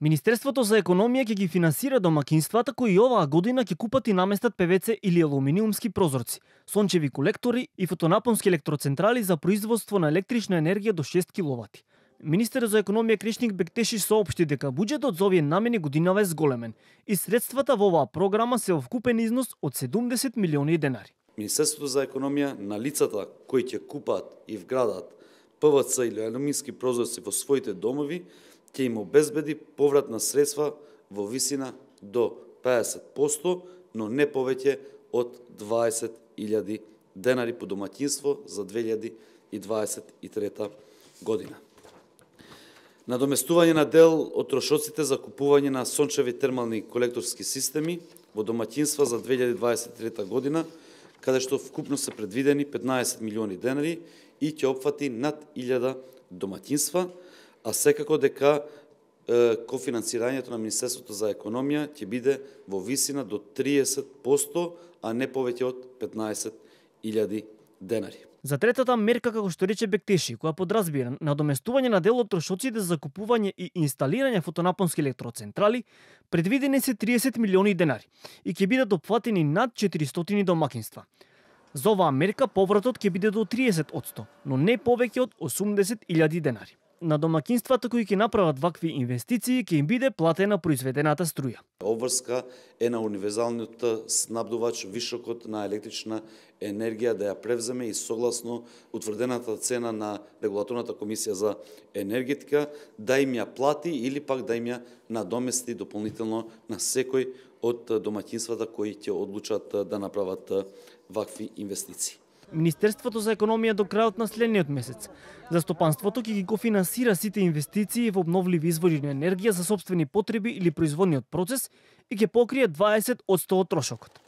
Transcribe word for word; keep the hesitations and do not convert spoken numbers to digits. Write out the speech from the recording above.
Министерството за економија ќе ги финансира домакинствата кои оваа година ќе купат и наместат пе ве це или алуминиумски прозорци, сончеви колектори и фотонапонски електроцентрали за производство на електрична енергија до шест киловати. Министерот за економија Кришник Бектеши соопшти дека буџетот за овие намени годинава е зголемен и средствата во оваа програма се во вкупен износ од седумдесет милиони денари. Министерството за економија на лицата кои ќе купат и вградат пе ве це или алумински прозорци во своите домови ќе им обезбеди поврат на средства во висина до педесет проценти, но не повеќе од дваесет илјади денари по домаќинство за две илјади и дваесет и трета година. Надоместување на дел од трошоците за купување на сончеви термални колекторски системи во домаќинства за две илјади дваесет и трета година, каде што вкупно се предвидени петнаесет милиони денари и ќе опфати над илјада домаќинства, а секако дека е, кофинансирањето на Министерството за економија ќе биде во висина до триесет проценти, а не повеќе од петнаесет илјади денари. За третата мерка, како што рече Бектеши, која подразбира надоместување на дел од трошоците за купување и инсталирање фотонапонски електроцентрали, предвидени се триесет милиони денари и ќе бидат опфатени над четиристотини домакинства. За оваа мерка повратот ќе биде до триесет проценти, но не повеќе од осумдесет илјади денари. На домакинствата кои ќе направат вакви инвестиции ќе им биде платена произведената струја. Обврска е на универзалниот снабдувач вишокот на електрична енергија да ја превземе и согласно утврдената цена на Регулаторната комисија за енергетика да им ја плати или пак да им ја надомести дополнително на секој од домаќинствата кои ќе одлучат да направат вакви инвестиции. Министерството за економија до крајот на следниот месец застопанството ќе ги кофинансира сите инвестиции во обновливи извори на енергија за сопствени потреби или производниот процес и ќе покрие дваесет проценти од трошокот.